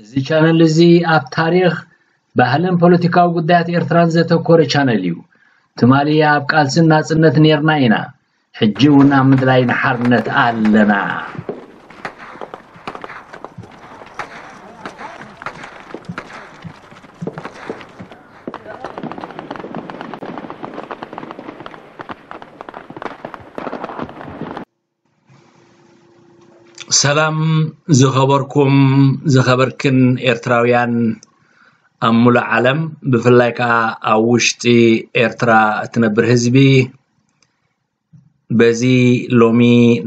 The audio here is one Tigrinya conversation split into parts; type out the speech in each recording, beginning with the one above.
እዚ ቻነል እዚ ኣብ ታሪኽ፣ ባህልን ፖለቲካዊ ጉዳያት ኤርትራን ዘተኮረ ቻነል እዩ። ትማሊ ኣብ ቃልስን ናጽነት ኔርና ኢና። ሕጂ እውን ኣብ ምድላይ ንሓርነት ኣለና። ሰላም ዝኸበርኩም ዝኸበርክን ኤርትራውያን ኣብ ሙሉእ ዓለም፣ ብፍላይ ከኣ ኣብ ውሽጢ ኤርትራ እትነብር ህዝቢ፣ በዚ ሎሚ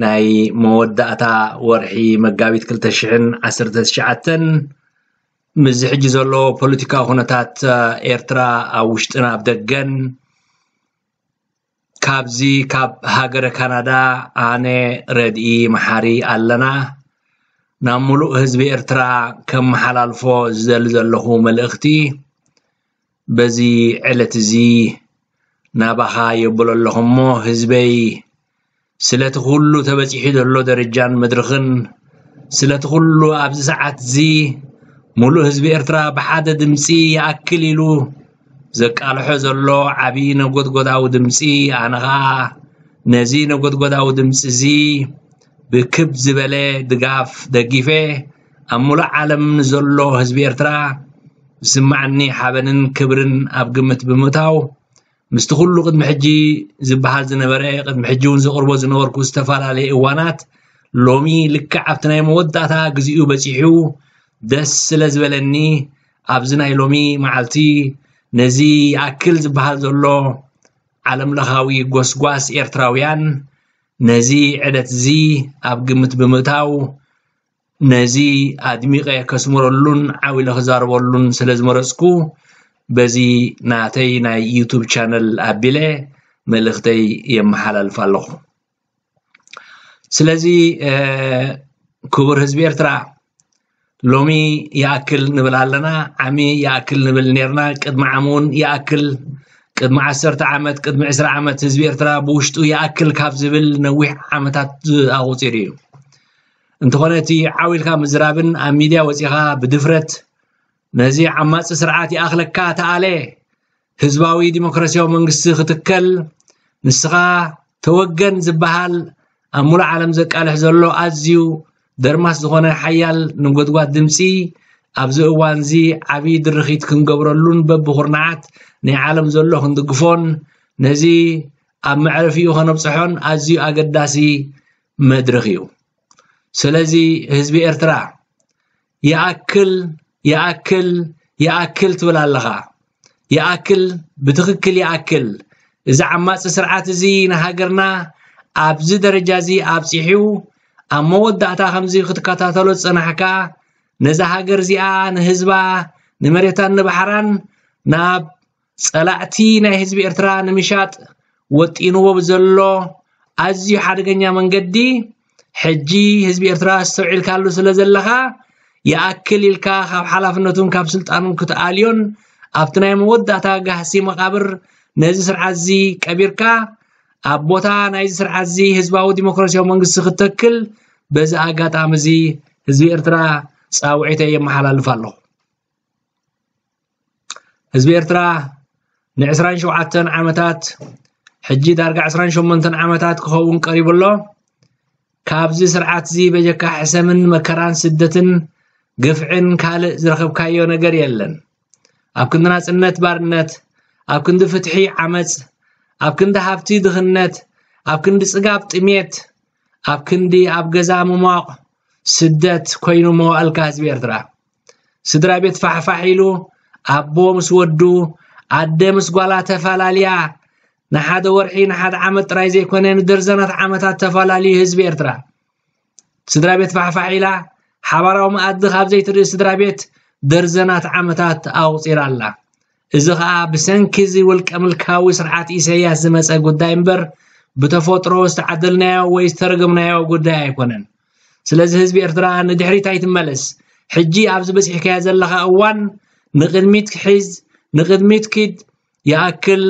ናይ መወዳእታ ወርሒ መጋቢት ክልተ ሽሕን ዓሰርተ ትሽዓተን፣ ምስዚ ሕጂ ዘሎ ፖለቲካዊ ኩነታት ኤርትራ ኣብ ውሽጥን ኣብ ደገን፣ ካብዚ ካብ ሃገረ ካናዳ ኣነ ረድኢ መሓሪ ኣለና ናብ ሙሉእ ህዝቢ ኤርትራ ከመሓላልፎ ዝደሊ ዘለኹ መልእኽቲ፣ በዚ ዕለት እዚ ናባኻ የብሎ ኣለኹ እሞ፣ ህዝበይ፣ ስለቲ ኩሉ ተበጺሑ ዘሎ ደረጃን መድረኽን፣ ስለቲ ኩሉ ኣብዚ ሰዓት እዚ ሙሉእ ህዝቢ ኤርትራ ብሓደ ድምጺ ይኣክል ኢሉ ዘቃልሖ ዘሎ ዓቢ ነጎድጎዳዊ ድምጺ፣ ኣነ ኸኣ ነዚ ነጎድጎዳዊ ድምጺ እዚ ብክብ ዝበለ ድጋፍ ደጊፈ፣ ኣብ ሙሉእ ዓለም ንዘሎ ህዝቢ ኤርትራ ዝስማዓኒ ሓበንን ክብርን ኣብ ግምት ብምእታው፣ ምስቲ ኩሉ ቅድሚ ሕጂ ዝበሃል ዝነበረ፣ ቅድሚ ሕጂ እውን ዘቕርቦ ዝነበርኩ ዝተፈላለየ እዋናት፣ ሎሚ ልክዕ ኣብቲ ናይ መወዳእታ ግዚኡ በጺሑ ደስ ስለ ዝበለኒ፣ ኣብዚ ናይ ሎሚ መዓልቲ ነዚ ይኣክል ዝበሃል ዘሎ ዓለም ለኻዊ ጎስጓስ ኤርትራውያን ነዚ ዕለት እዚ ኣብ ግምት ብምእታው፣ ነዚ ኣድሚቐ ከስምረሉን ዓው ኢለ ክዛረበሉን ስለ ዝመረጽኩ፣ በዚ ናተይ ናይ ዩቱብ ቻነል ኣቢለ መልእኽተይ የመሓላልፍ ኣለኹ። ስለዚ፣ እ፣ ክቡር ህዝቢ ኤርትራ፣ ሎሚ ይኣክል ንብል ኣለና፣ ዓሚ ይኣክል ንብል ኔርና፣ ቅድሚ ዓሚ እውን ይኣክል፣ ቅድሚ ዓሰርተ ዓመት፣ ቅድሚ ዕስራ ዓመት ህዝቢ ኤርትራ ብውሽጡ ይኣክል ካብ ዝብል ነዊሕ ዓመታት ኣቑጺሩ እዩ። እንተኾነ እቲ ዓው ኢልካ ምዝራብን ኣብ ሚድያ ወጺኻ ብድፍረት ነዚ ዓማጺ ስርዓት ይኣኽለካ ተኣለ፣ ህዝባዊ ዲሞክራሲያዊ መንግስቲ ክትከል፣ ንስኻ ተወገን ዝበሃል ኣብ ሙሉእ ዓለም ዘቃልሕ ዘሎ ኣዝዩ ደርማስ ዝኾነ ሓያል ነጎድጓድ ድምጺ፣ ኣብዚ እዋን እዚ ዓቢ ድርኺት ክንገብረሉን በብኹርናዓት ናይ ዓለም ዘሎ ክንድግፎን ነዚ ኣብ መዕረፊኡ ከነብጽሖን ኣዝዩ ኣገዳሲ መድረኽ እዩ። ስለዚ ህዝቢ ኤርትራ ይኣክል፣ ይኣክል፣ ይኣክል ትብል ኣለኻ። ይኣክል፣ ብትኽክል ይኣክል። እዚ ዓማጺ ስርዓት እዚ ንሃገርና ኣብዚ ደረጃ እዚ ኣብጺሑ፣ ኣብ መወዳእታ ከምዚ ክትከታተሎ ዝጸናሕካ፣ ነዛ ሃገር እዚኣ ንህዝባ፣ ንመሬታን ንባሕራን ናብ ጸላእቲ ናይ ህዝቢ ኤርትራ ንምሻጥ ወጢንዎ ብዘሎ ኣዝዩ ሓደገኛ መንገዲ፣ ሕጂ ህዝቢ ኤርትራ ኣስተውዒልካሉ ስለ ዘለኻ፣ ይኣክል ኢልካ ካብ ሓላፍነቱን ካብ ስልጣኑን ክትኣልዮን፣ ኣብቲ ናይ መወዳእታ ጋህሲ መቓብር ነዚ ስርዓት እዚ ቀቢርካ፣ ኣብ ቦታ ናይዚ ስርዓት እዚ ህዝባዊ ዲሞክራሲያዊ መንግስቲ ክትተክል፣ በዚ ኣጋጣሚ እዚ ህዝቢ ኤርትራ ጻውዒተይ የመሓላልፍ ኣለኹ። ህዝቢ ኤርትራ ንዕስራን ሸውዓተን ዓመታት፣ ሕጂ ዳርጋ ዕስራን ሸሞንተን ዓመታት ክኸውን ቀሪቡ ኣሎ። ካብዚ ስርዓት እዚ በጀካ ሕሰምን መከራን ስደትን ግፍዕን ካልእ ዝረኸብካዮ ነገር የለን። ኣብ ክንዲ ናጽነት ባርነት፣ ኣብ ክንዲ ፍትሒ ዓመጽ፣ ኣብ ክንዲ ሃብቲ ድኽነት፣ ኣብ ክንዲ ጽጋብ ጥሜት፣ ኣብ ክንዲ ኣብ ገዛ ምሟቕ ስደት ኮይኑ መዋእልካ ህዝቢ ኤርትራ። ስድራ ቤት ፋሕፋሕ ኢሉ፣ ኣቦ ምስ ወዱ፣ ኣደ ምስ ጓላ ተፈላልያ፣ ንሓደ ወርሒ ንሓደ ዓመት ጥራይ ዘይኮነ ንደርዘናት ዓመታት ተፈላልዩ ህዝቢ ኤርትራ። ስድራ ቤት ፋሕፋሕ ኢላ፣ ሓባራዊ መኣዲ ካብ ዘይትርኢ ስድራ ቤት ደርዘናት ዓመታት ኣቑጺራ ኣላ። እዚ ኸኣ ብሰንኪ እዚ ውልቀ ምልካዊ ስርዓት ኢሳያስ ዝመጸ ጉዳይ እምበር፣ ብተፈጥሮ ዝተዓደልናዮ ወይ ዝተረገምናዮ ጉዳይ ኣይኮነን። ስለዚ ህዝቢ ኤርትራ ንድሕሪት ኣይትመለስ። ሕጂ ኣብዚ በጺሕካዮ ዘለኻ እዋን ንቕድሚት ክሒዝ፣ ንቕድሚት ኪድ፣ ይኣክል፣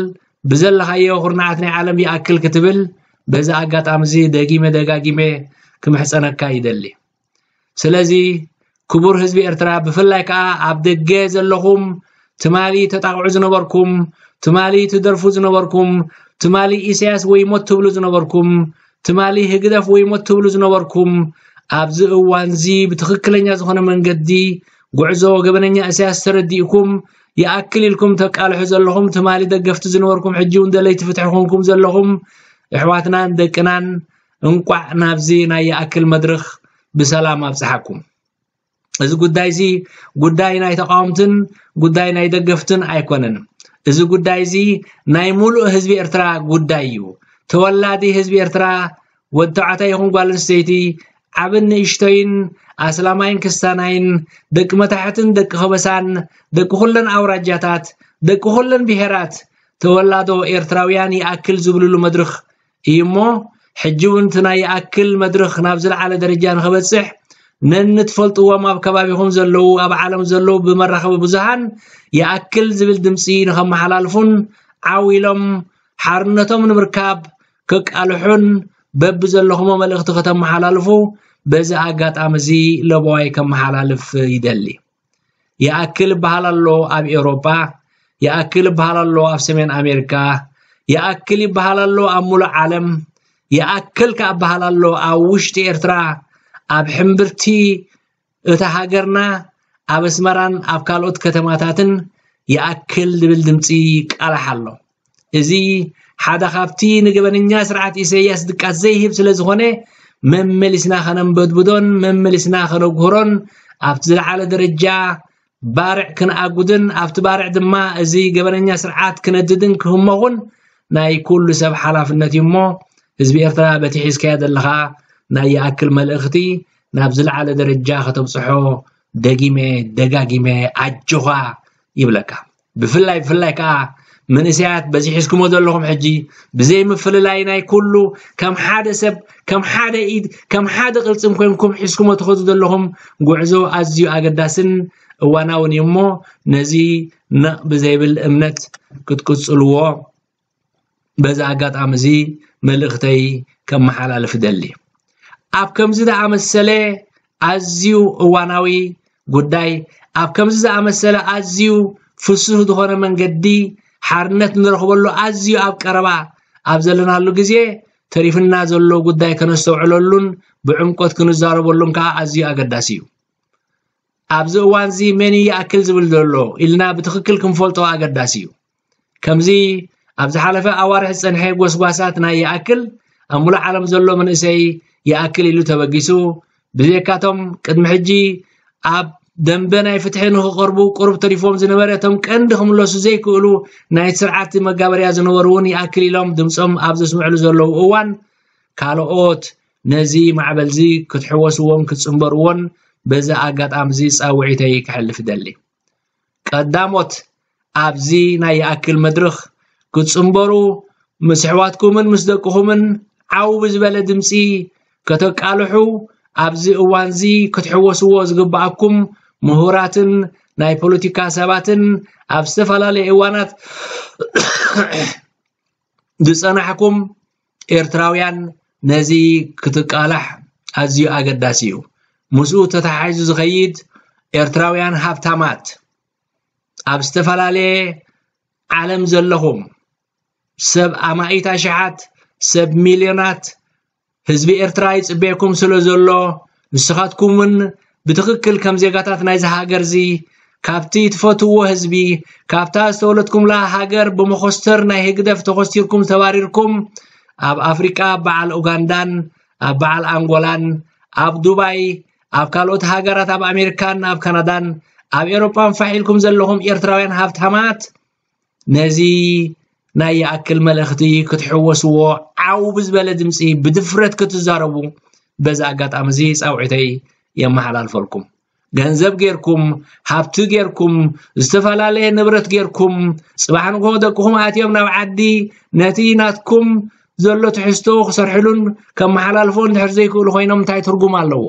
ብዘለኻዮ ኩርናዓት ናይ ዓለም ይኣክል ክትብል በዚ ኣጋጣሚ እዚ ደጊመ ደጋጊመ ክምሕጸነካ ይደሊ። ስለዚ ክቡር ህዝቢ ኤርትራ፣ ብፍላይ ከኣ ኣብ ደገ ዘለኹም፣ ትማሊ ተጣቕዑ ዝነበርኩም፣ ትማሊ ትደርፉ ዝነበርኩም፣ ትማሊ ኢሳያስ ወይ ሞት ትብሉ ዝነበርኩም፣ ትማሊ ህግደፍ ወይ ሞት ትብሉ ዝነበርኩም፣ ኣብዚ እዋንዚ ብትኽክለኛ ዝኾነ መንገዲ ጉዕዞ ገበነኛ ኢሳያስ ተረዲእኩም፣ ይኣክል ኢልኩም ተቃልሑ ዘለኹም፣ ትማሊ ደገፍቲ ዝነበርኩም፣ ሕጂ እውን ደለይቲ ፍትሒ ኮንኩም ዘለኹም ኣሕዋትናን ደቅናን፣ እንቋዕ ናብዚ ናይ ይኣክል መድረኽ ብሰላም ኣብጽሓኩም። እዚ ጉዳይ እዚ ጉዳይ ናይ ተቃወምትን ጉዳይ ናይ ደገፍትን ኣይኮነን። እዚ ጉዳይ እዚ ናይ ሙሉእ ህዝቢ ኤርትራ ጉዳይ እዩ። ተወላዲ ህዝቢ ኤርትራ፣ ወዲ ተባዕታይ ይኹን ጓል ኣንስተይቲ፣ ዓብን ንእሽቶይን፣ ኣስላማይን ክስታናይን፣ ደቂ መታሕትን ደቂ ከበሳን፣ ደቂ ኩለን ኣውራጃታት፣ ደቂ ኩለን ብሄራት፣ ተወላዶ ኤርትራውያን ይኣክል ዝብልሉ መድረኽ እዩ እሞ፣ ሕጂ እውን እቲ ናይ ይኣክል መድረኽ ናብ ዝለዓለ ደረጃ ንኸበጽሕ፣ ነንትፈልጥዎም ኣብ ከባቢኹም ዘለዉ፣ ኣብ ዓለም ዘለዉ ብመራኸቢ ብዙሃን ይኣክል ዝብል ድምጺ ንኸመሓላልፉን ዓው ኢሎም ሓርነቶም ንምርካብ ከቃልሑን በብዘለኹሞ መልእኽቲ ከተመሓላልፉ በዚ ኣጋጣሚ እዚ ለበዋይ ከመሓላልፍ ይደሊ። ይኣክል ይበሃል ኣሎ ኣብ ኤውሮጳ፣ ይኣክል ይበሃል ኣሎ ኣብ ሰሜን ኣሜሪካ፣ ይኣክል ይበሃል ኣሎ ኣብ ሙሉእ ዓለም፣ ይኣክል ከኣ ይበሃል ኣሎ ኣብ ውሽጢ ኤርትራ፣ ኣብ ሕምብርቲ እታ ሃገርና፣ ኣብ ኣስመራን ኣብ ካልኦት ከተማታትን ይኣክል ዝብል ድምጺ ይቃላሕ ኣሎ። እዚ ሓደ ካብቲ ንገበነኛ ስርዓት ኢሳያስ ድቃስ ዘይህብ ስለ ዝኾነ፣ መመሊስና ከነንበድብዶን መመሊስና ከነጉህሮን ኣብቲ ዝለዓለ ደረጃ ባርዕ ክንኣጉድን ኣብቲ ባርዕ ድማ እዚ ገበነኛ ስርዓት ክነድድን ክህመኹን ናይ ኩሉ ሰብ ሓላፍነት እዩ እሞ፣ ህዝቢ ኤርትራ በቲ ሒዝካዮ ዘለኻ ናይ ይኣክል መልእኽቲ ናብ ዝለዓለ ደረጃ ከተብጽሖ ደጊመ ደጋጊመ ኣጆኻ ይብለካ። ብፍላይ ብፍላይ ከኣ መንእሰያት በዚ ሒዝኩሞ ዘለኹም ሕጂ ብዘይ ምፍልላይ ናይ ኩሉ ከም ሓደ ሰብ፣ ከም ሓደ ኢድ፣ ከም ሓደ ቅልጽም ኮይንኩም ሒዝኩሞ ትኸዱ ዘለኹም ጉዕዞ ኣዝዩ ኣገዳስን እዋናውን እዩ እሞ ነዚ ነቕ ብዘይብል እምነት ክትቅጽልዎ በዚ ኣጋጣሚ እዚ መልእኽተይ ከመሓላልፍ እደሊ። ኣብ ከምዚ ዝኣመሰለ ኣዝዩ እዋናዊ ጉዳይ፣ ኣብ ከምዚ ዝኣመሰለ ኣዝዩ ፍሱህ ዝኾነ መንገዲ ሓርነት ንረኽበሉ ኣዝዩ ኣብ ቀረባ ኣብ ዘለናሉ ግዜ፣ ተሪፍና ዘሎ ጉዳይ ከነስተውዕለሉን ብዕምቆት ክንዛረበሉን ከኣ ኣዝዩ ኣገዳሲ እዩ። ኣብዚ እዋንዚ መን እዩ ይኣክል ዝብል ዘሎ ኢልና ብትኽክል ክንፈልጦ ኣገዳሲ እዩ። ከምዚ ኣብ ዝሓለፈ ኣዋርሕ ዝጸንሐ ጎስጓሳት ናይ ይኣክል ኣብ ሙሉእ ዓለም ዘሎ መንእሰይ ይኣክል ኢሉ ተበጊሱ፣ ብዘይካቶም ቅድሚ ሕጂ ኣብ ደንበ ናይ ፍትሒ ንኽቐርቡ ቁሩብ ተሪፎም ዝነበረ፣ እቶም ቀንዲ ክምለሱ ዘይክእሉ ናይ ስርዓት መጋበርያ ዝነበሩ እውን ይኣክል ኢሎም ድምጾም ኣብ ዘስምዕሉ ዘለዉ እዋን፣ ካልኦት ነዚ ማዕበልዚ ክትሕወስዎን ክትጽንበርዎን በዚ ኣጋጣሚዚ ጻውዒተይ ከሕልፍ እደሊ። ቀዳሞት ኣብዚ ናይ ይኣክል መድረኽ ክትጽንበሩ፣ ምስ ኣሕዋትኩምን ምስ ደቅኹምን ዓው ብዝበለ ድምጺ ከተቃልሑ፣ ኣብዚ እዋንዚ ክትሕወስዎ ዝግብኣኩም ምሁራትን ናይ ፖለቲካ ሰባትን ኣብ ዝተፈላለየ እዋናት ዝጸናሕኩም ኤርትራውያን ነዚ ክትቃላሕ ኣዝዩ ኣገዳሲ እዩ። ምስኡ ተተሓሒዙ ዝኸይድ ኤርትራውያን ሃብታማት ኣብ ዝተፈላለየ ዓለም ዘለኹም ሰብ ኣማኢት ኣሽሓት ሰብ ሚልዮናት ህዝቢ ኤርትራ ይጽበየኩም ስለ ዘሎ ንስኻትኩም እውን ብትኽክል ከም ዜጋታት ናይዚ ሃገር እዚ ካብቲ ትፈትውዎ ህዝቢ ካብታ ዝተወለድኩምላ ሃገር ብመኾስተር ናይ ህግደፍ ተኾስቲርኩም ተባሪርኩም ኣብ ኣፍሪቃ በዓል ኡጋንዳን ኣብ በዓል ኣንጎላን ኣብ ዱባይ ኣብ ካልኦት ሃገራት ኣብ ኣሜሪካን ኣብ ካናዳን ኣብ ኤሮጳን ፋሕ ኢልኩም ዘለኹም ኤርትራውያን ሃብታማት ነዚ ናይ ይኣክል መልእኽቲ ክትሕወስዎ ዓው ብዝበለ ድምፂ ብድፍረት ክትዛረቡ በዚ ኣጋጣሚ እዚ ፃውዒተይ የመሓላልፈልኩም። ገንዘብ ጌርኩም፣ ሃብቲ ጌርኩም፣ ዝተፈላለየ ንብረት ጌርኩም፣ ፅባሕ ንግሆ ደቅኹም ኣትዮም ናብ ዓዲ ነቲ ናትኩም ዘሎ ትሕዝቶ ክሰርሕሉን ከመሓላልፎ እንድሕር ዘይክእሉ ኮይኖም እንታይ ትርጉም ኣለዎ?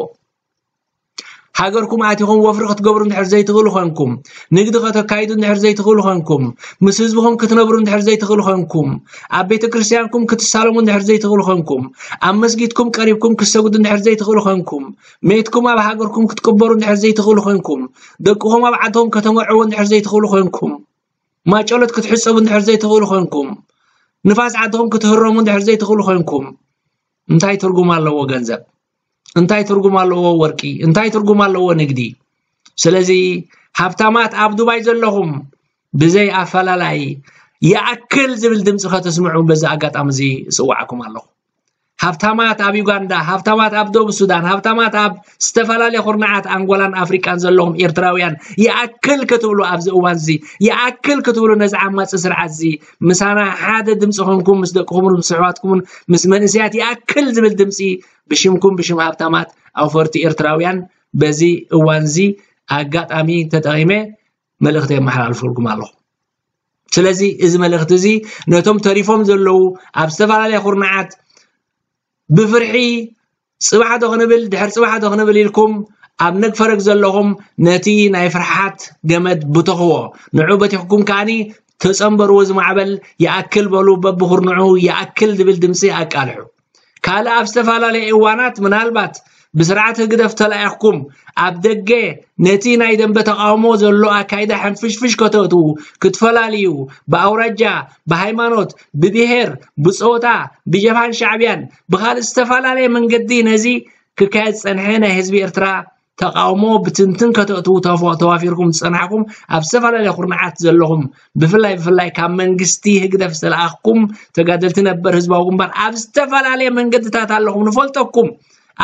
ሃገርኩም ኣቲኹም ወፍሪ ክትገብሩ እንድሕር ዘይትኽእሉ ኾንኩም፣ ንግዲ ከተካይዱ እንድሕር ዘይትኽእሉ ኾንኩም፣ ምስ ህዝብኹም ክትነብሩ እንድሕር ዘይትኽእሉ ኾንኩም፣ ኣብ ቤተ ክርስቲያንኩም ክትሳለሙ እንድሕር ዘይትኽእሉ ኾንኩም፣ ኣብ መስጊድኩም ቀሪብኩም ክትሰግዱ እንድሕር ዘይትኽእሉ ኾንኩም፣ ሜትኩም ኣብ ሃገርኩም ክትቅበሩ እንድሕር ዘይትኽእሉ ኾንኩም፣ ደቅኹም ኣብ ዓድኹም ከተመርዕዉ እንድሕር ዘይትኽእሉ ኾንኩም፣ ማጨሎት ክትሕጸቡ እንድሕር ዘይትኽእሉ ኾንኩም፣ ንፋስ ዓድኹም ክትህረሙ እንድሕር ዘይትኽእሉ ኾንኩም፣ እንታይ ትርጉም ኣለዎ ገንዘብ? እንታይ ትርጉም ኣለዎ ወርቂ? እንታይ ትርጉም ኣለዎ ንግዲ? ስለዚ ሃብታማት ኣብ ዱባይ ዘለኹም ብዘይ ኣፈላላይ ይኣክል ዝብል ድምፂ ከተስምዑ በዚ ኣጋጣሚ እዚ እፅዋዕኩም ኣለኹ። ሃብታማት ኣብ ዩጋንዳ፣ ሃብታማት ኣብ ደቡብ ሱዳን፣ ሃብታማት ኣብ ዝተፈላለየ ኩርናዓት ኣንጎላን ኣፍሪቃን ዘለኹም ኤርትራውያን ይኣክል ክትብሉ ኣብዚ እዋን እዚ ይኣክል ክትብሉ ነዚ ዓማፂ ስርዓት እዚ ምሳና ሓደ ድምፂ ኮንኩም ምስ ደቅኹምን ምስ ኣሕዋትኩምን ምስ መንእሰያት ይኣክል ዝብል ድምፂ ብሽምኩም ብሽም ሃብታማት ኣውፈርቲ ኤርትራውያን በዚ እዋን እዚ ኣጋጣሚ ተጠቒመ መልእኽቲ የመሓላልፈልኩም ኣለኹ። ስለዚ እዚ መልእኽቲ እዚ ነቶም ተሪፎም ዘለዉ ኣብ ዝተፈላለየ ኩርናዓት ብፍርሒ ጽባሕ ዶ ክንብል ድሕር ጽባሕ ዶ ክንብል ኢልኩም ኣብ ነግፈረግ ዘለኹም ነቲ ናይ ፍርሓት ገመድ ብተኽዎ ንዑ በቲኽኩም ከኣኒ ተጸንበርዎ ዝማዕበል ይኣክል በሉ በብኹርንዑ ይኣክል ዝብል ድምፂ ኣቃልሑ። ካልእ ኣብ ዝተፈላለየ እዋናት ምናልባት ብስርዓት ህግደፍ ተላኢኽኩም ኣብ ደገ ነቲ ናይ ደንበ ተቓውሞ ዘሎ ኣካይዳ ሕንፍሽፍሽ ከተእትዉ ክትፈላልዩ ብኣውራጃ ብሃይማኖት ብብሄር ብፆታ ብጀብሃን ሻዕብያን ብኻልእ ዝተፈላለየ መንገዲ ነዚ ክካየድ ዝፀንሐ ናይ ህዝቢ ኤርትራ ተቃውሞ ብትንትን ከተእትዉ ተዋፊርኩም ዝጸናሕኩም ኣብ ዝተፈላለየ ኩርናዓት ዘለኹም ብፍላይ ብፍላይ ካብ መንግስቲ ህግደፍ ዝተለኣኽኩም ተጋደልቲ ነበር ህዝባዊ ግንባር ኣብ ዝተፈላለየ መንገድታት ኣለኹም ንፈልጠኩም።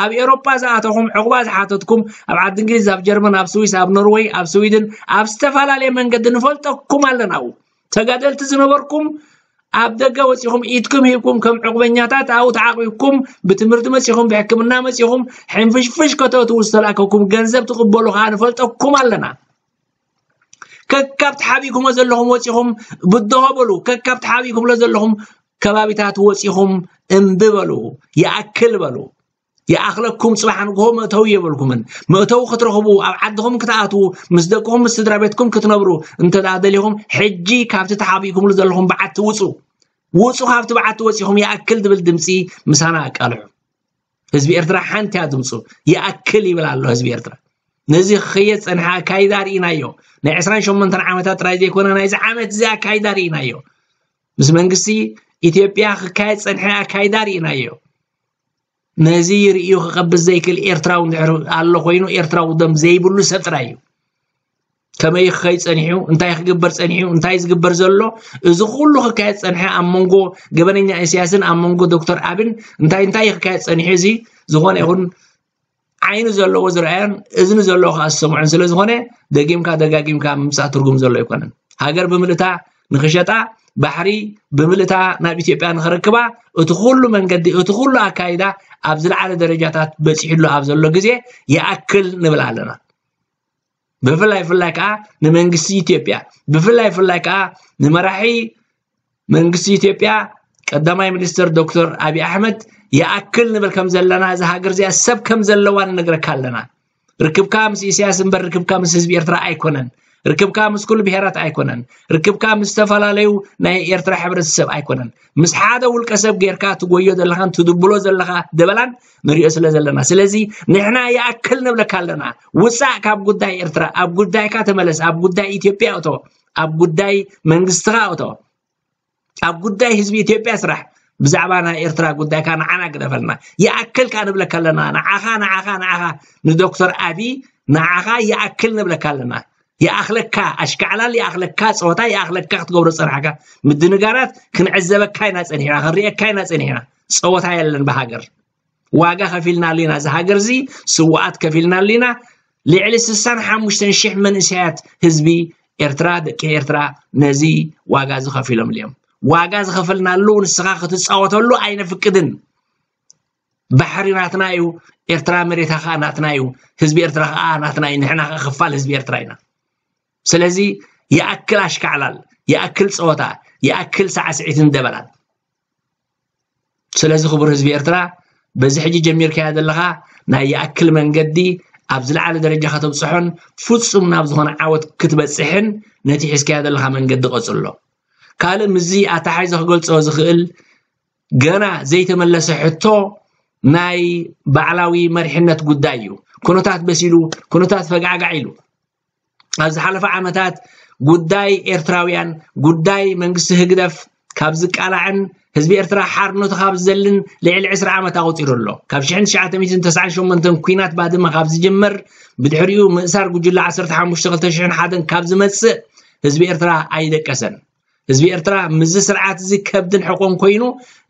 ኣብ ኤሮጳ ዝኣተኹም ዕቑባ ዝሓተትኩም ኣብ ዓዲ እንግሊዝ ኣብ ጀርመን ኣብ ስዊስ ኣብ ኖርወይ ኣብ ስዊድን ኣብ ዝተፈላለየ መንገዲ ንፈልጠኩም ኣለና። ተጋደልቲ ዝነበርኩም ኣብ ደገ ወጺኹም ኢድኩም ሂብኩም ከም ዕቑበኛታት ኣብኡ ተዓቂብኩም ብትምህርቲ መጺኹም ብሕክምና መጺኹም ሕንፍሽፍሽ ከተእትዉ ዝተላእከኩም ገንዘብ ትቕበሉ ከኣ ንፈልጠኩም ኣለና። ከካብ ተሓቢእኩሞ ዘለኹም ወጺኹም ብድሆ በሉ። ከካብ ተሓቢእኩምሎ ዘለኹም ከባቢታት ወጺኹም እምቢ በሉ። ይኣክል በሉ። ይኣኽለኩም ጽባሕ ንግሆ መእተዊ የብልኩምን። መእተዊ ክትረኽቡ ኣብ ዓድኹም ክትኣትዉ ምስ ደቅኹም ምስ ስድራ ቤትኩም ክትነብሩ እንተ ደኣ ደሊኹም ሕጂ ካብቲ ተሓቢእኩምሉ ዘለኹም በዓቲ ውጹ። ውጹ ካብቲ በዓቲ ወጺኹም ይኣክል ዝብል ድምጺ ምሳና ኣቃልሑ። ህዝቢ ኤርትራ ሓንቲ እያ ድምጹ። ይኣክል ይብል ኣሎ ህዝቢ ኤርትራ። ነዚ ክኸየ ዝጸንሐ ኣካይዳ ርኢናዮ። ናይ ዕስራን ሸሞንተን ዓመታት ጥራይ ዘይኮነ ናይዚ ዓመት እዚ ኣካይዳ ርኢናዮ። ምስ መንግስቲ ኢትዮጵያ ክካየድ ዝጸንሐ ኣካይዳ ርኢናዮ። ነዚ ርእዩ ክቐብዝ ዘይክእል ኤርትራዊ እንድሕር ኣሎ ኮይኑ ኤርትራዊ ደም ዘይብሉ ሰብ ጥራይ እዩ። ከመይ ክኸይ ጸኒሑ እንታይ ክግበር ጸኒሑ እንታይ ዝግበር ዘሎ እዚ ኩሉ ክካየድ ጸንሐ ኣብ መንጎ ገበነኛ ኢሳያስን ኣብ መንጎ ዶክተር ኣብን እንታይ እንታይ ክካየድ ጸኒሑ እዚ ዝኾነ ይኹን ዓይኒ ዘለዎ ዝረኣዮን እዝኒ ዘለዎ ከዓ ዝሰምዖን ስለ ዝኾነ ደጊምካ ደጋጊምካ ምምፃእ ትርጉም ዘሎ ኣይኮነን። ሃገር ብምልእታ ንኽሸጣ ባሕሪ ብምልእታ ናብ ኢትዮጵያ ንኽረክባ እቲ ኩሉ መንገዲ እቲ ኩሉ ኣካይዳ ኣብ ዝለዓለ ደረጃታት በፂሕሉ ኣብ ዘሎ ግዜ ይኣክል ንብል ኣለና። ብፍላይ ፍላይ ከዓ ንመንግስቲ ኢትዮጵያ ብፍላይ ፍላይ ከዓ ንመራሒ መንግስቲ ኢትዮጵያ ቀዳማይ ሚኒስትር ዶክተር ኣብይ ኣሕመድ ይኣክል ንብል ከም ዘለና እዛ ሃገር እዚኣ ሰብ ከም ዘለዋ ንነግረካ ኣለና። ርክብካ ምስ ኢሳያስ እምበር ርክብካ ምስ ህዝቢ ኤርትራ ኣይኮነን። ርክብካ ምስ ኩሉ ብሄራት ኣይኮነን። ርክብካ ምስ ዝተፈላለዩ ናይ ኤርትራ ሕብረተሰብ ኣይኮነን። ምስ ሓደ ውልቀ ሰብ ጌርካ ትጎዮ ዘለኻን ትድብሎ ዘለኻ ደበላን ንሪኦ ስለ ዘለና ስለዚ ንሕና ይኣክል ንብለካ ኣለና። ውፃእ ካብ ጉዳይ ኤርትራ ኣብ ጉዳይካ ተመለስ ኣብ ጉዳይ ኢትዮጵያ እቶ ኣብ ጉዳይ መንግስትኻ እቶ ኣብ ጉዳይ ህዝቢ ኢትዮጵያ ስራሕ ብዛዕባ ናይ ኤርትራ ጉዳይካ ንዓና ግደፈልና ይኣክል ከዓ ንብለካ ኣለና ንዓኻ ንዓኻ ንዓኻ ንዶክተር ኣቢ ንዓኻ ይኣክል ንብለካ ኣለና ይኣኽለካ ኣሽካዕላል ይኣኽለካ ፀወታ ይኣኽለካ ክትገብሮ ፀናሕካ ምድንጋራት ክንዕዘበካ ኢና ፀኒሕና ክንሪኤካ ኢና ፀኒሕና ፀወታ የለን ብሃገር ዋጋ ከፊልናሉ ኢና እዚ ሃገር እዚ ስዋኣት ከፊልናሉ ኢና ልዕሊ ስሳን ሓሙሽተን ሽሕ መንእሰያት ህዝቢ ኤርትራ ደቂ ኤርትራ ነዚ ዋጋ እዚ ከፊሎም እዮም ዋጋ ዝኸፈልናሉ ንስኻ ክትፃወተሉ ኣይነፍቅድን ባሕሪ ናትና እዩ ኤርትራ መሬታ ከዓ ናትና እዩ ህዝቢ ኤርትራ ከዓ ናትና እዩ ንሕና ከዓ ክፋል ህዝቢ ኤርትራ ኢና ስለዚ ይኣክል ኣሽካዕላል ይኣክል ፀወታ ይኣክል ሳዕስዒትን ደበላን ስለዚ ክቡር ህዝቢ ኤርትራ በዚ ሕጂ ጀሚርካያ ዘለኻ ናይ ይኣክል መንገዲ ኣብ ዝለዓለ ደረጃ ከተብፅሖን ፍፁም ናብ ዝኾነ ዓወት ክትበፅሕን ነቲ ሒዝካዮ ዘለኻ መንገዲ ቀፅሎ። ካልእ ምስዚ ኣተሓሒዘ ክገልፆ ዝኽእል ገና ዘይተመለሰ ሕቶ ናይ ባዕላዊ መሪሕነት ጉዳይ እዩ። ኩነታት በሲሉ፣ ኩነታት ፈጋዕጋዕ ኢሉ። ኣብ ዝሓለፈ ዓመታት ጉዳይ ኤርትራውያን፣ ጉዳይ መንግስቲ ህግደፍ ካብ ዝቃላዕን ህዝቢ ኤርትራ ሓርነቱ ካብ ዝዘልን ልዕሊ ዕስራ ዓመት ኣቑጺሩ ኣሎ። ካብ ሽሕን ትሽዓተ ሚእትን ተስዓን ሸሞንተን ኲናት ባድመ ካብ ዝጅመር፣ ብድሕሪኡ ምእሳር ጉጅለ ዓሰርተ ሓሙሽተ ክልተ ሽሕን ሓደን ካብ ዝመጽእ ህዝቢ ኤርትራ ኣይደቀሰን። ህዝቢ ኤርትራ ምስዚ ስርዓት እዚ ከብድን ሕቆን ኮይኑ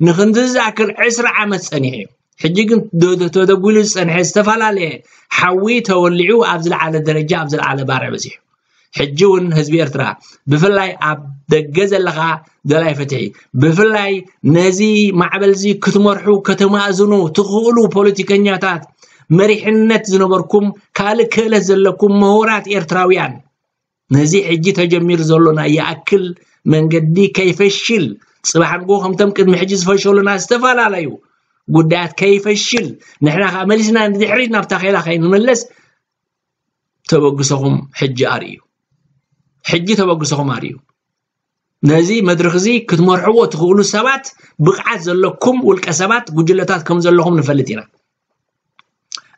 ንክንድዚ ዝኣክል ዕስራ ዓመት ጸኒሑ እዩ። ሕጂ ግን ዶ-፣ ዶ-፣ ተደጒሉ ዝጸንሐ ዝተፈላለየ ሓዊ ተወሊዑ ኣብ ዝለዓለ ደረጃ፣ ኣብ ዝለዓለ ባርዕ በጺሑ። ሕጂ እውን ህዝቢ ኤርትራ ብፍላይ ኣብ ደገ ዘለኻ ደላይ ፍትሒ፣ ብፍላይ ነዚ ማዕበል እዚ ክትመርሑ ከተማእዝኑ ትኽእሉ ፖለቲከኛታት፣ መሪሕነት ዝነበርኩም፣ ካልእ ክእለት ዘለኩም ምሁራት ኤርትራውያን፣ ነዚ ሕጂ ተጀሚሩ ዘሎ ናይ ይኣክል መንገዲ ከይፈሽል፣ ጽባሕ ንግሆ ከምቶም ቅድሚ ሕጂ ዝፈሸሉና ዝተፈላለዩ ጉዳያት ከይፈሽል፣ ንሕና ከኣ መሊስና ንድሕሪት ናብ ታኼላ ከይንምለስ ተበግሶኹም ሕጂ ኣርእዩ። ሕጂ ተበግሶኹም ኣርእዩ። ነዚ መድረኽ እዚ ክትመርሕዎ ትኽእሉ ሰባት፣ ብቕዓት ዘለኩም ውልቀ ሰባት፣ ጉጅለታት ከም ዘለኹም ንፈልጥ ኢና።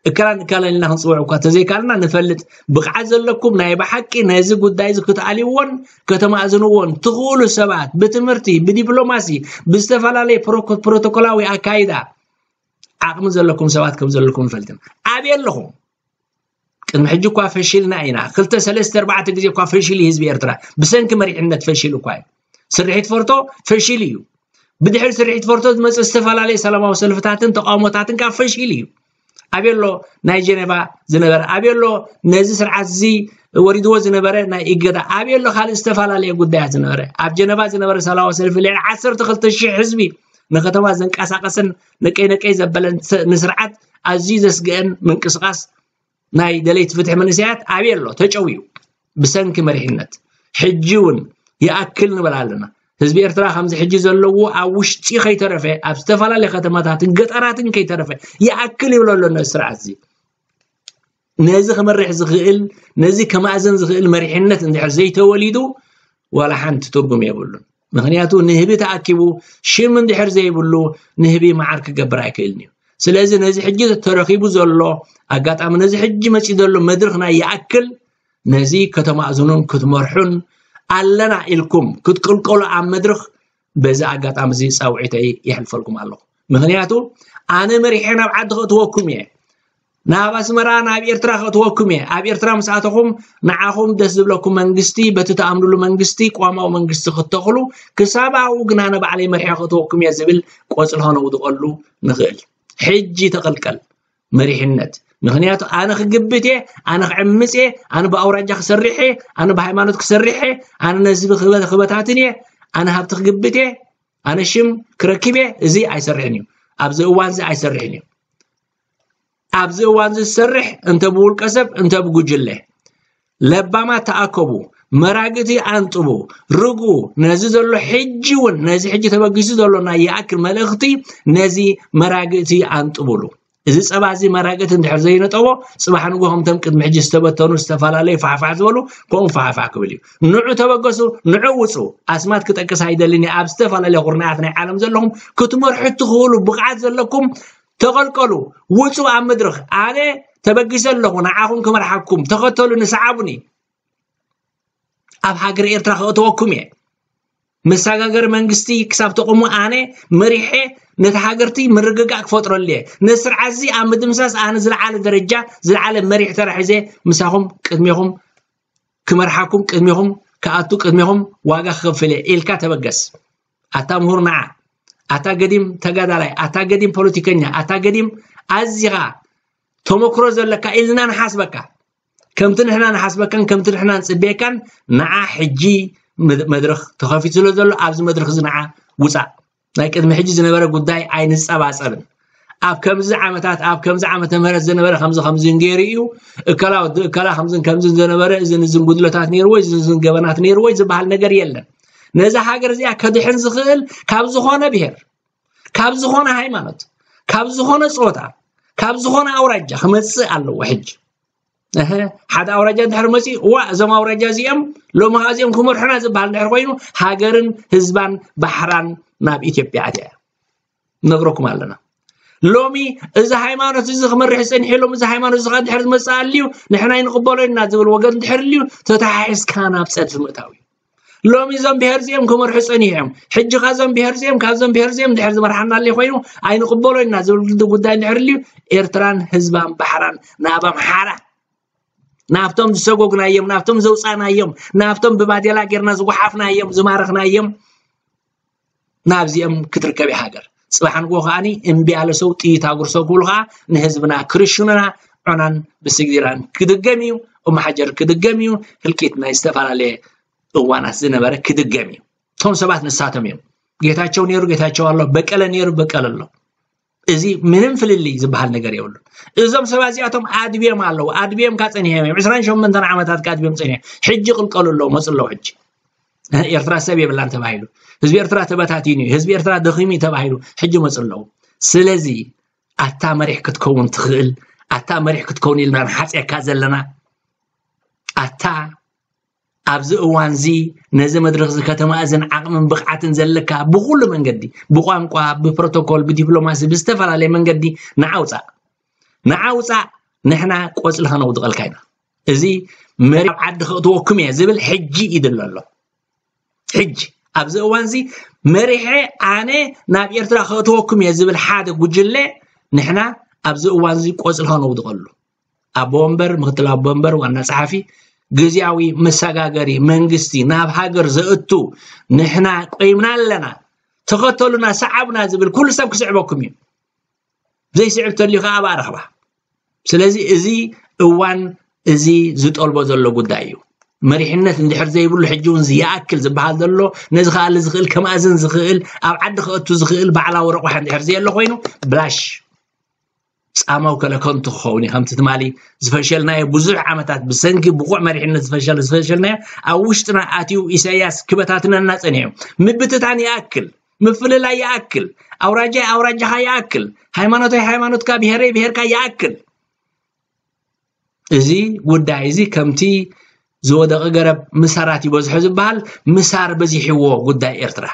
እከላን እከላን ኢልና ክንጽውዕ እኳ ተዘይካልና ንፈልጥ። ብቕዓት ዘለኩም ናይ ብሓቂ ነዚ ጉዳይ እዚ ክትኣልይዎን ከተማእዝንዎን ትኽእሉ ሰባት፣ ብትምህርቲ፣ ብዲፕሎማሲ፣ ብዝተፈላለየ ፕሮኮ-፣ ፕሮቶኮላዊ ኣካይዳ ዓቕሚ ዘለኩም ሰባት ከም ዘለኩም ንፈልጥ ኢና። ኣበይ ኣለኹም? ቅድሚ ሕጂ እኳ ፈሺልና ኢና። ክልተ፣ ሰለስተ፣ ኣርባዕተ ግዜ እኳ ፈሺሉ ህዝቢ ኤርትራ ብሰንኪ መሪሕነት ፈሺሉ እኳ እዩ። ስርሒት ፎርቶ ፈሺሉ እዩ። ብድሕሪ ስርሒት ፎርቶ ዝመጽእ ዝተፈላለየ ሰላማዊ ሰልፍታትን ተቃውሞታትን ካብ ፈሺሉ እዩ። ኣበይ ኣሎ ናይ ጀነቫ ዝነበረ? ኣበይ ኣሎ ነዚ ስርዓት እዚ ወሪድዎ ዝነበረ ናይ እገዳ? ኣበይ ኣሎ ካልእ ዝተፈላለየ ጉዳያት ዝነበረ? ኣብ ጀነቫ ዝነበረ ሰላማዊ ሰልፊ ልዕሊ ዓሰርተ ክልተ ሽሕ ህዝቢ ንከተማ ዘንቀሳቀሰን ነቀይ ነቀይ ዘበለን ስ-፣ ንስርዓት ኣዝዩ ዘስግአን ምንቅስቃስ ናይ ደለይቲ ፍትሒ መንእሰያት ኣበይ ኣሎ? ተጨውዩ ብሰንኪ መሪሕነት። ሕጂ እውን ይኣክል ንብል ኣለና። ህዝቢ ኤርትራ ከምዚ ሕጂ ዘለዎ ኣብ ውሽጢ ከይተረፈ፣ ኣብ ዝተፈላለየ ከተማታትን ገጠራትን ከይተረፈ ይኣክል ይብል ኣሎ ነዚ ስርዓት እዚ። ነዚ ክመርሕ ዝኽእል፣ ነዚ ከማእዘን ዝኽእል መሪሕነት እንድሕር ዘይተወሊዱ ዋላ ሓንቲ ትርጉም የብሉን። ምኽንያቱ ንህቢ ተኣኪቡ ሽም እንድሕር ዘይብሉ ንህቢ መዓር ክገብር ኣይክእልን እዩ። ስለዚ ነዚ ሕጂ ተረኺቡ ዘሎ ኣጋጣሚ፣ ነዚ ሕጂ መጺኡ ዘሎ መድረኽ ናይ ይኣክል ነዚ ከተማእዝኑን ክትመርሑን ኣለና ኢልኩም ክትቅልቀሉ ኣብ መድረኽ በዚ ኣጋጣሚ እዚ ጻውዒተይ የሕልፈልኩም ኣለኹ። ምኽንያቱ ኣነ መሪሐ ናብ ዓዲ ከእትወኩም እየ፣ ናብ ኣስመራ ናብ ኤርትራ ከእትወኩም እየ። ኣብ ኤርትራ ምስ ኣተኹም ንዓኹም ደስ ዝብለኩም መንግስቲ፣ በቲ ትኣምንሉ መንግስቲ፣ ቅዋማዊ መንግስቲ ክትተኽሉ፣ ክሳብ ኣብኡ ግን ኣነ ባዕለይ መሪሐ ከእትወኩም እየ ዝብል ቆጽሊ ከነውድቐሉ ንኽእል። ሕጂ ተቐልቀል መሪሕነት። ምኽንያቱ ኣነ ክግብት እየ፣ ኣነ ክዕምጽ እየ፣ ኣነ ብኣውራጃ ክሰርሕ እየ፣ ኣነ ብሃይማኖት ክሰርሕ እየ፣ ኣነ ነዚ ክበ-፣ ክበታትን እየ፣ ኣነ ሃብቲ ክግብት እየ፣ ኣነ ሽም ክረክብ እየ፣ እዚ ኣይሰርሕን እዩ። ኣብዚ እዋን እዚ ኣይሰርሕን እዩ። ኣብዚ እዋን እዚ ዝሰርሕ እንተ ብውልቀ ሰብ እንተ ብጉጅለ። ለባማት ተኣከቡ፣ መራግእቲ ኣንጥቡ፣ ርግኡ። ነዚ ዘሎ ሕጂ እውን፣ ነዚ ሕጂ ተበጊሱ ዘሎ ናይ ይኣክል መልእኽቲ ነዚ መራግእቲ ኣንጥቡሉ። እዚ ጸባ እዚ መራግእቲ እንድሕር ዘይነጠቦ፣ ጽባሕ ንግሆ ከምቶም ቅድሚ ሕጂ ዝተበተኑ፣ ዝተፈላለዩ ፋሕፋሕ ዝበሉ፣ ከምኡ ፋሕፋሕ ክብል እዩ። ንዑ ተበገሱ፣ ንዑ ውጹ። ኣስማት ክጠቅስ ኣይደልን እየ። ኣብ ዝተፈላለየ ኩርናዓት ናይ ዓለም ዘለኹም ክትመርሑ እትኽእሉ ብቕዓት ዘለኩም ተቐልቀሉ፣ ውጹ ኣብ መድረኽ። ኣነ ተበጊሰ ኣለኹ፣ ንዓኹም ክመርሓኩም፣ ተኸተሉኒ፣ ሰዓቡኒ። ኣብ ሃገር ኤርትራ ከእተወኩም እየ። መሰጋገሪ መንግስቲ ክሳብ ተቆሙ ኣነ መሪሐ ነቲ ሃገርቲ ምርግጋእ ክፈጥረሉ እየ። ነዚ ስርዓት እዚ ኣብ ምድምሳስ ኣነ ዝለዓለ ደረጃ፣ ዝለዓለ መሪሕ ተራ ሒዘ ምሳኹም ቅድሜኹም ክመርሓኩም፣ ቅድሜኹም ክኣቱ፣ ቅድሜኹም ዋጋ ክኸፍል እየ ኢልካ ተበገስ። ኣታ ምሁር ንዓ፣ ኣታ ገዲም ተጋዳላይ፣ ኣታ ገዲም ፖለቲከኛ፣ ኣታ ገዲም ኣዚኻ ተመክሮ ዘለካ ኢልና ንሓስበካ። ከምቲ ንሕና ንሓስበካን ከምቲ ንሕና ንጽበየካን ንዓ ሕጂ መድ-፣ መድረኽ ተኸፊቱ ስለ ዘሎ ኣብዚ መድረኽ እዚ ንዓ ውጻእ። ናይ ቅድሚ ሕጂ ዝነበረ ጉዳይ ኣይንጸባጸብን። ኣብ ከምዚ ዓመታት፣ ኣብ ከምዚ ዓመተ ምህረት ዝነበረ ከምዚ ከምዚ ገይሩ እዩ፣ እከላ ወዲ እከላ ከምዝን ከምዝን ዝነበረ፣ እዝን እዝን ጉድለታት ነይርዎ፣ እዝን እዝን ገበናት ነይርዎ ዝበሃል ነገር የለን። ነዛ ሃገር እዚኣ ከድሕን ዝኽእል ካብ ዝኾነ ብሄር፣ ካብ ዝኾነ ሃይማኖት፣ ካብ ዝኾነ ጾታ፣ ካብ ዝኾነ ኣውራጃ ክመጽእ ኣለዎ። ሕጂ እህ፣ ሓደ ኣውራጃ እንድሕር መፂኡ፣ ዋ፣ እዞም ኣውራጃ እዚኦም ሎሚ ኸዓ እዚኦም ክመርሑና ዝበሃል እንድሕር ኮይኑ፣ ሃገርን ህዝባን ባሕራን ናብ ኢትዮጵያ ኣትያ እያ። ነግረኩም ኣለና። ሎሚ እዚ ሃይማኖት እዚ ክመርሕ ዝፀኒሐ፣ ሎሚ እዚ ሃይማኖት እዚ ኸዓ እንድሕር ዝመፅእ ኣልዩ፣ ንሕና ኣይንቕበሎ ኢና ዝብል ወገን እንድሕር ኣልዩ፣ ተተሓሒዝካ ናብ ፀድፊ ምእታው እዩ። ሎሚ እዞም ብሄር እዚኦም ክመርሑ ፀኒሖም፣ ሕጂ ኸዓ እዞም ብሄር እዚኦም ካብዞም ብሄር እዚኦም እንድሕር ዝመርሓና ኣልዩ ኮይኑ፣ ኣይንቕበሎ ኢና ዝብል ጉዳይ እንድሕር ኣልዩ፣ ኤርትራን ህዝባን ባሕራን ናብ ኣምሓራ፣ ናብቶም ዝሰጎግናዮም፣ ናብቶም ዘውፃናዮም፣ ናብቶም ብባዴላ ጌርና ዝጓሓፍናዮም፣ ዝማረኽናዮም፣ ናብዚኦም ክትርከብ እያ ሃገር። ፅባሕ ንግሆ ከዓኒ እምቢ ያለ ሰው ጥይት አጉርሰው ክብሉ ከዓ ንህዝብና ክርሽኑና፣ ዑናን ብስግዲራን ክድገም እዩ፣ ኡመሓጀር ክድገም እዩ፣ ህልቂት ናይ ዝተፈላለየ እዋናት ዝነበረ ክድገም እዩ። እቶም ሰባት ንሳቶም እዮም። ጌታቸው ነይሩ፣ ጌታቸው ኣሎ፣ በቀለ ነይሩ፣ በቀለ ኣሎ። እዚ ምንም ፍልልይ ዝበሃል ነገር የብሉን። እዞም ሰባት እዚኣቶም ኣድብዮም ኣለዉ። ኣድብዮም ካ ጸኒሖም እዮም። ዕስራን ሸሞንተን ዓመታት ካ ኣድብዮም ጸኒሖም። ሕጂ ቅልቀሉ ኣለዉ፣ መጹ ኣለዉ ሕጂ። ኤርትራ ሰብ የብላን ተባሂሉ። ህዝቢ ኤርትራ ተበታቲኑ እዩ። ህዝቢ ኤርትራ ደኺሙ እዩ ተባሂሉ። ሕጂ መጹ ኣለዉ። ስለዚ ኣታ መሪሕ ክትከውን ትኽእል፣ ኣታ መሪሕ ክትከውን ኢልና ንሓጽየካ ዘለና፣ ኣታ ኣብዚ እዋንዚ ነዚ መድረኽዚ ከተማእዝን ዓቕምን ብቕዓትን ዘለካ ብኹሉ መንገዲ፣ ብቋንቋ፣ ብፕሮቶኮል፣ ብዲፕሎማሲ፣ ብዝተፈላለየ መንገዲ ንዓ ውጻእ። ንዓ ውጻእ፣ ንሕና ቆጽሊ ከነውድቐልካ ኢና። እዚ መሪሕ ኣብ ዓዲ ከእትወኩም እየ ዝብል ሕጂ ይድለ ኣሎ። ሕጂ ኣብዚ እዋንዚ መሪሐ ኣነ ናብ ኤርትራ ከእትወኩም እየ ዝብል ሓደ ጉጅለ ንሕና ኣብዚ እዋንዚ ቆጽሊ ከነውድቐሉ። ኣቦ ወንበር፣ ምክትል ኣቦ ወንበር፣ ዋና ጸሓፊ፣ ግዝያዊ መሰጋገሪ መንግስቲ ናብ ሃገር ዘእቱ ንሕና ቆይምና ኣለና፣ ተኸተሉና፣ ሰዓቡና ዝብል ኩሉ ሰብ ክስዕበኩም እዩ። ዘይስዕብ ተልዩ ከዓ ኣብኣ ረኽባ። ስለዚ እዚ እዋን እዚ ዝጠልቦ ዘሎ ጉዳይ እዩ። መሪሕነት እንድሕር ዘይብሉ ሕጂ እውን ይኣክል ዝበሃል ዘሎ፣ ነዚ ከኣሊ ዝኽእል፣ ከማእዝን ዝኽእል፣ ኣብ ዓዲ ከእቱ ዝኽእል ባዕላዊ ረቑሓ እንድሕር ዘየሎ ኮይኑ ብላሽ ጻማው ከለ ከንቱ ክኸውን እዩ። ከምቲ ትማሊ ዝፈሸልናዮ ብዙሕ ዓመታት ብሰንኪ ብቑዕ መሪሕነት ዝፈሸል-፣ ዝፈሸልናዮ ኣብ ውሽጥና ኣትዩ ኢሳያስ ክበታትነና ጸኒሑ። ምብትታን ይኣክል፣ ምፍልላይ ይኣክል፣ ኣውራጃይ ኣውራጃኻ ይኣክል፣ ሃይማኖተይ ሃይማኖትካ፣ ብሄረይ ብሄርካ ይኣክል። እዚ ጉዳይ እዚ ከምቲ ዝወደቐ ገረብ ምሳራት ይበዝሖ ዝበሃል ምሳር በዚሕዎ ጉዳይ ኤርትራ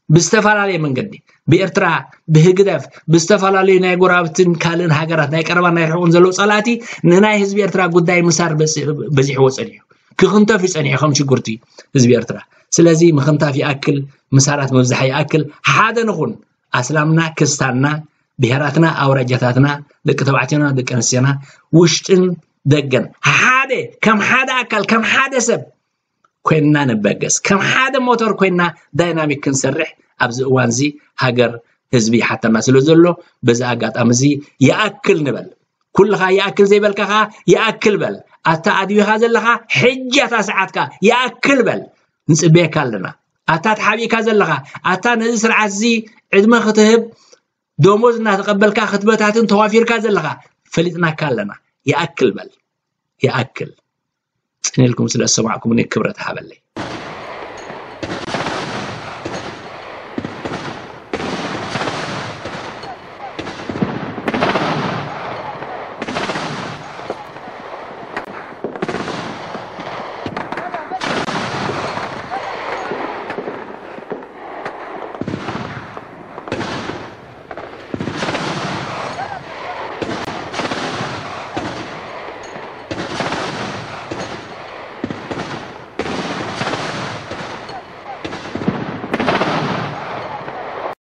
ብዝተፈላለየ መንገዲ ብኤርትራ ብህግደፍ ብዝተፈላለዩ ናይ ጎረባብትን ካልእን ሃገራት ናይ ቀረባን ናይ ርሑቕን ዘለዉ ጸላእቲ ንናይ ህዝቢ ኤርትራ ጉዳይ ምሳር በዚ-፣ በዚሕዎ ጸኒሑ ክኽንተፍ እዩ ጸኒሑ ከም ሽጉርቲ ህዝቢ ኤርትራ። ስለዚ ምኽንታፍ ይኣክል፣ ምሳራት ምብዛሕ ይኣክል፣ ሓደ ንኹን። ኣስላምና ክስታንና ብሄራትና ኣውራጃታትና ደቂ ተባዕትዮና ደቂ ኣንስትዮና ውሽጥን ደገን ሓደ ከም ሓደ ኣካል ከም ሓደ ሰብ ኮይንና ንበገስ ከም ሓደ ሞተር ኮይንና ዳይናሚክ ክንሰርሕ ኣብዚ እዋን እዚ ሃገር ህዝቢ ይሓተና ስለ ዘሎ በዚ ኣጋጣሚ እዚ ይኣክል ንበል። ኩልኻ ይኣክል ዘይበልካ ኸዓ ይኣክል በል። ኣታ ኣድቢኻ ዘለኻ ሕጂ ኣታ ሰዓትካ ይኣክል በል። ንጽበየካ ኣለና። ኣታ ተሓቢእካ ዘለኻ ኣታ ነዚ ስርዓት እዚ ዕድመ ክትህብ ደሞዝ እናተቐበልካ ክትበታትን ተዋፊርካ ዘለኻ ፈሊጥናካ ኣለና። ይኣክል በል፣ ይኣክል። ጽን ኢልኩም ስለ ዝሰማዕኩምኒ ክብረት ሃበለይ።